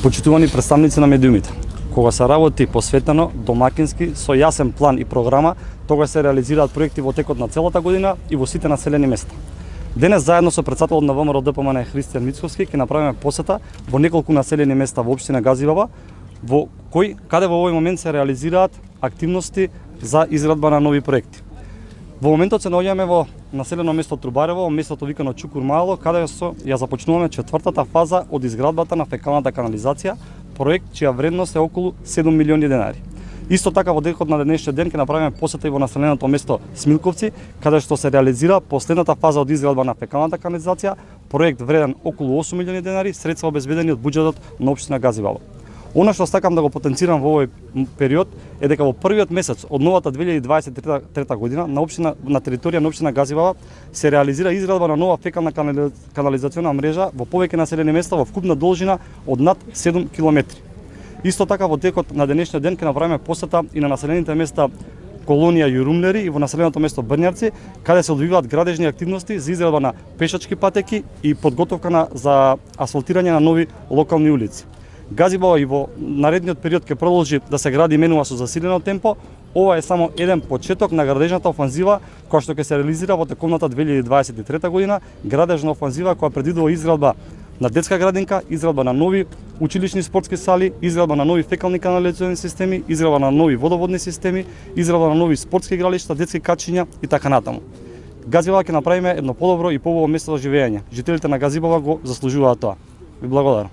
Почитувани представници на медиумите, кога се работи посветено, домакински, со јасен план и програма, тогаш се реализираат проекти во текот на целата година и во сите населени места. Денес заедно со претседателот на ВМРО ДПМН Христијан Мицковски ќе направиме посета во неколку населени места во општина Газивала, каде во овој момент се реализираат активности за изградба на нови проекти. Во моментот се наоѓаме во населено место Трубарево, местото викано Чукур Мало, каде ја започнуваме четвртата фаза од изградбата на фекалната канализација, проект чија вредност е околу 7 милиони денари. Исто така во текот на денешниот ден ќе направиме посета и во населеното место Смилковци, каде што се реализира последната фаза од изградба на фекалната канализација, проект вреден околу 8 милиони денари, средства обезбедени од буџетот на општина Газивало. Она што сакам да го потенцирам во овој период е дека во првиот месец од новата 2023 година на територија на општина Газивала се реализира изградба на нова фекална канализациона мрежа во повеќе населени места во вкупна должина од над 7 километри. Исто така во текот на денешниот ден ќе направиме посета и на населените места колонија Јурумлери и во населеното место Брњарци, каде се одвиваат градежни активности за изградба на пешачки патеки и подготовка за асфалтирање на нови локални улици. Газивала и во наредниот период ќе продолжи да се гради и менува со засилено темпо. Ова е само еден почеток на градежната офанзива која што ќе се реализира во тековната 2023 година, градежна офанзива која предвидува изградба на детска градинка, изградба на нови училишни спортски сали, изградба на нови фекални канализациони системи, изградба на нови водоводни системи, изградба на нови спортски игралишта, детски качиња и така натаму. Газивала ќе направиме едно подобро и побољно место за живење. Жителите на Газивала го заслужуваат тоа. Ви благодарам.